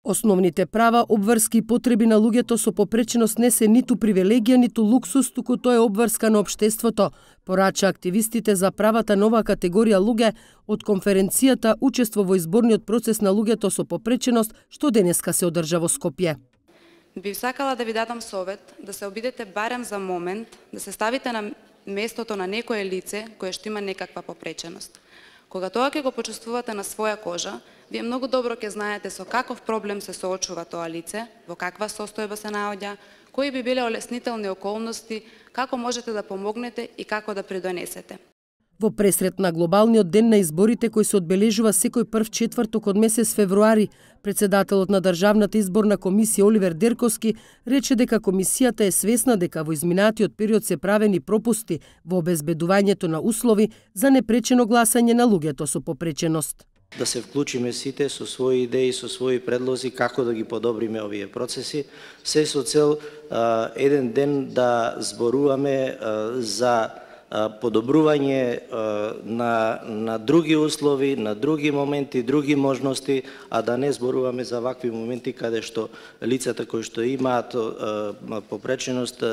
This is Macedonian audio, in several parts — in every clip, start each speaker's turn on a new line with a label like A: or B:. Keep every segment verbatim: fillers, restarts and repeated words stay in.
A: Основните права, обврски и потреби на луѓето со попреченост не се ниту привилегија, ниту луксус, туку тоа е обврска на општеството, порача активистите за правата на оваа категорија луѓе од конференцијата Учество во изборниот процес на луѓето со попреченост, што денеска се одржа во Скопје.
B: Би сакала да ви дадам совет да се обидете барем за момент да се ставите на местото на некое лице кое што има некаква попреченост. Кога тоа ќе го почувствувате на своја кожа, вие многу добро ќе знаете со каков проблем се соочува тоа лице, во каква состојба се наоѓа, кои би биле олеснителни околности, како можете да помогнете и како да придонесете.
A: Во пресрет на глобалниот ден на изборите кој се одбележува секој прв четврток од месец февруари, председателот на Државната изборна комисија Оливер Дерковски рече дека комисијата е свесна дека во изминатиот период се правени пропусти во обезбедувањето на услови за непречено гласање на луѓето со попреченост.
C: Да се вклучиме сите со своји идеи, со своји предлози како да ги подобриме овие процеси, се со цел а, еден ден да зборуваме а, за подобрување на, на други услови, на други моменти, други можности, а да не зборуваме за вакви моменти каде што лицата кои што имаат попреченост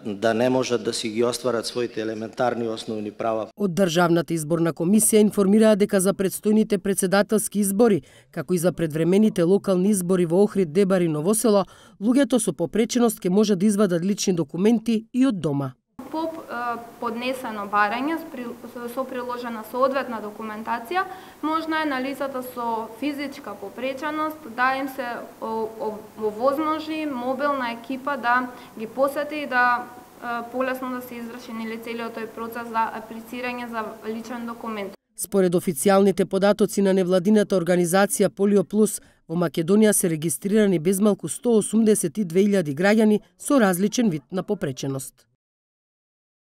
C: да не можат да си ги остварат своите елементарни основни права.
A: Од Државната изборна комисија информираа дека за предстојните председателски избори, како и за предвремените локални избори во Охрид, Дебар и Новосело, луѓето со попреченост ќе можат да извадат лични документи и од дома.
D: По поднесено барање со приложена соодветна документација, можно е на лицата со физичка попреченост да им се овозможи мобилна екипа да ги посети и да полесно да се изврши нели целиот тој процес за аплицирање за личен документ.
A: Според официјалните податоци на невладината организација Полио Плюс, во Македонија се регистрирани безмалку сто осумдесет и две илјади граѓани со различен вид на попреченост.